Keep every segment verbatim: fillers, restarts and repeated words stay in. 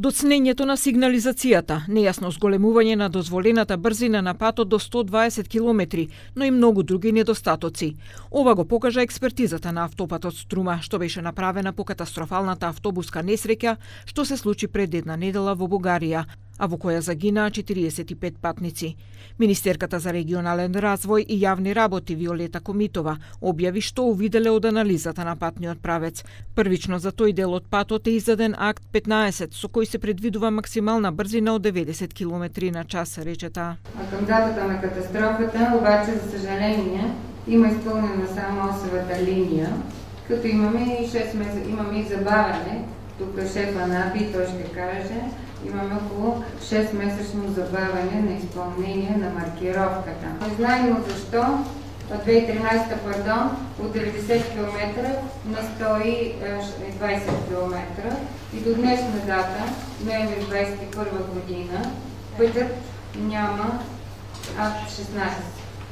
Доцнењето на сигнализацијата, нејасно зголемување на дозволената брзина на патот до сто дваесет километри, но и многу други недостатоци. Ова го покажа експертизата на автопатот Струма, што беше направена по катастрофалната автобуска несреќа што се случи пред една недела во Бугарија, а во која загинаа четириесет и пет патници. Министерката за регионален развој и јавни работи Виолета Комитова објави што увиделе од анализата на патниот правец. Првично за тој дел од патот е издаден акт петнаесет со кој се предвидува максимална брзина од деветдесет километри на час, рече таа. А към датата на катастрофата, обаче за съжаление, има изпълнена само осевата линија, като имаме и шест месеца, имаме и забавяне. Тук шефа на АПИ, той ще каже, имаме около шест месечно забавяне на изпълнение на маркировката. Не знаем защо от две хиляди и тринадесета, пардон, от деветдесет километра на сто и двадесет километра и до днешна дата, ноември двадесет и първа година, пътят няма акт шестнаесет.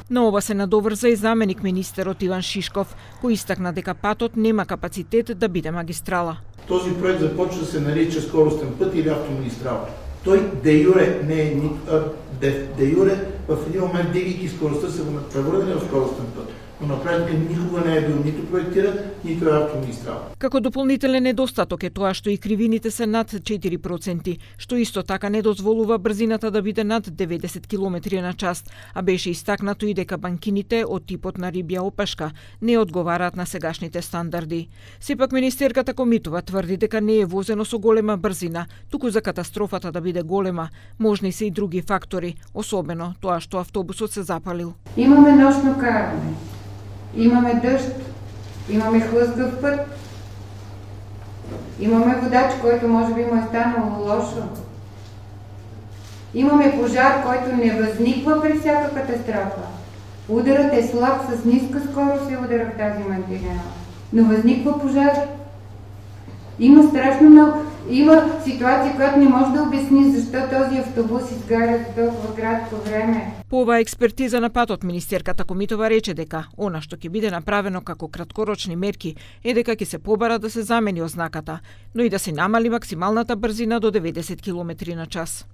На ова се надоврза и заменик министерот Иван Шишков, кој истакна дека патот нема капацитет да биде магистрала. Този проект започва да се нарича скоростен път или автомагистрала. Той де юре не е нито, де, де юре в един момент, дигайки скоростта, се го превърне в скоростен път. Но на практика никога не е бил нито проектиран, нито е автомагистрала. Како дополнителен недостаток е тоа што и кривините се над четири проценти, што исто така не дозволува брзината да биде над деветдесет километри на час, а беше истакнато и дека банкините од типот на рибја опашка не одговараат на сегашните стандарди. Сепак министерката Комитова тврди дека не е возено со голема брзина, туку за катастрофата да биде голема, можни се и други фактори, особено тоа што автобусот се запалил. Имаме нощно каране. Имаме дъжд, имаме хлъзгав път, имаме водач, който може би му е станало лошо. Имаме пожар, който не възниква при всяка катастрофа. Ударът е слаб, с ниска скорост се удара в тази мантинела. Но възниква пожар. Има страшно много. Има ситуация, която не може да обясни защо този автобус изгаря за толкова кратко време. По оваа експертиза на патот, министерката Комитова рече дека она што ќе биде направено како краткорочни мерки е дека ќе се побара да се замени ознаката, но и да се намали максималната брзина до деветдесет километри на час.